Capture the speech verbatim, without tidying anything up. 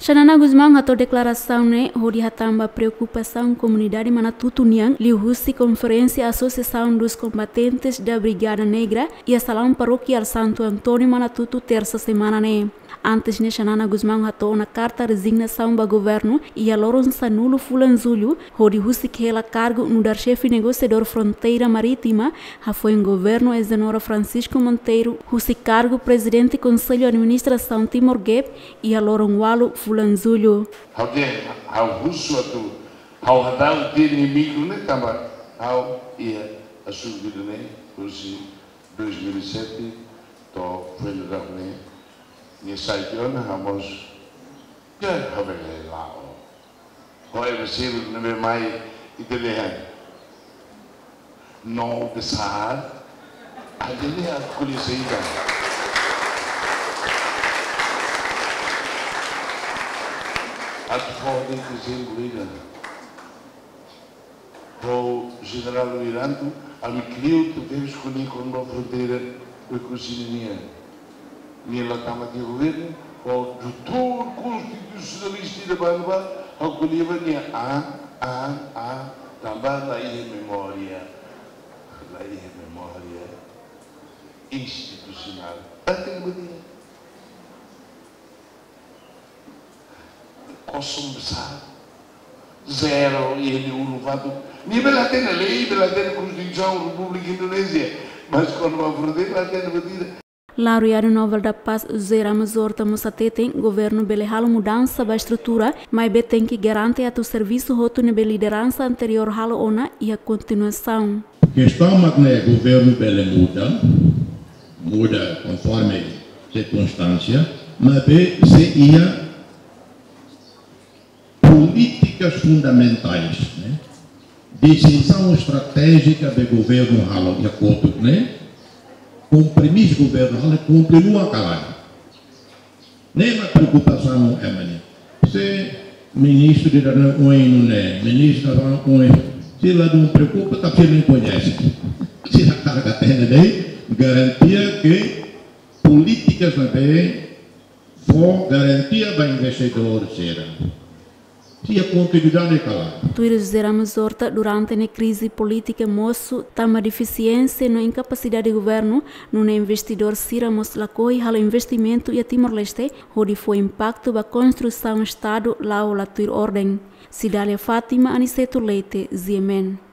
Xanana Gusmão hato'o deklarasaun ne'e hodi hatán ba preokupasaun komunidade Manatuto nian liuhusi konferénsia Associação dos Combatentes da Brigada Negra iha salaun parokiál Santo António Manatuto, tersa semana ne'e. Antes ne'e, Xanana Gusmão hato'o ona karta rezignasaun ba governu iha loron sanulu fulan Jullu, hodi husik hela kargu nu'udar xefe negosiadór fronteira marítima, hafoin governu eis-jenerál Francisco Monteiro husi kargu Prezidente Konsellu Administrasaun Timor Gap iha loron ualu fulan Jullu. Ha'u dehan, ha'u husu atu, ha'u hadau tiha nia mikru ne'e tanba ha'u iha assunto ne'e husi dois mil e sete to'o foin daudaun ne'e, nia sai tiha ona, ha'u mós, ya, ha'u bele la'o. Ho ema seluk ne'ebé mai ita dehan: "No, besar." Ida-ne'e ha'u ko'alia saida? Atu fó de'it ezemplu ida. Ho Jenerál Wiranto, ami kleur tebes ko'alia kona-ba fronteira Oekusi nian. Nia la tama tiha governu, ho doutór konstitusionalista ida bá ne'ebá, ha'u ko'alia ba nia, ah, ah, ah, tanba la iha memória, la iha memória institusionál. Ita-nia memória kosong besar. Zero, iha nia ulun fatuk. Nia bele hatene lei, bele hatene Konstituisaun Repúblika Indonézia. Mas kona-ba fronteira, la hatene buat ida. Laureadu Nobel da Paz José Ramos Horta mós hateten, governu bele halo mudansa ba estrutura, maibé tenke garante atu servisu hotu ne'ebé lideransa anteriór halo ona iha kontinuasaun. Kestaun mak ne'e governu bele muda, muda konforme sirkunstánsia, maibé sei iha polítikas fundamentais, ne'e? Desizaun estratéjika be governu halo iha kotuk ne'e, kompromisu governu halo kontinua kalan. Ne'e mak preokupasaun ema nian. Se ministru ida-ne'e oin nune'e, ministru ida-ne'e oin. Se ladún preokupa, tanba sira la koñese. Sira hakarak hatene de'it, garantia ke polítikas ne'ebé fó garantia ba investidór sira. Sira kontinuidade kalan. Tuir José Ramos Horta, durante ne'e krize polítika mosu tanba defisiénsia no inkapasidade governu, nune'e investidór sira mós lakohi halo investimentu iha Timor-Leste, hodi fó impaktu ba konstrusaun Estadu la'o la tuir orden. Cidália Fátima, Aniceto Leite, G M N.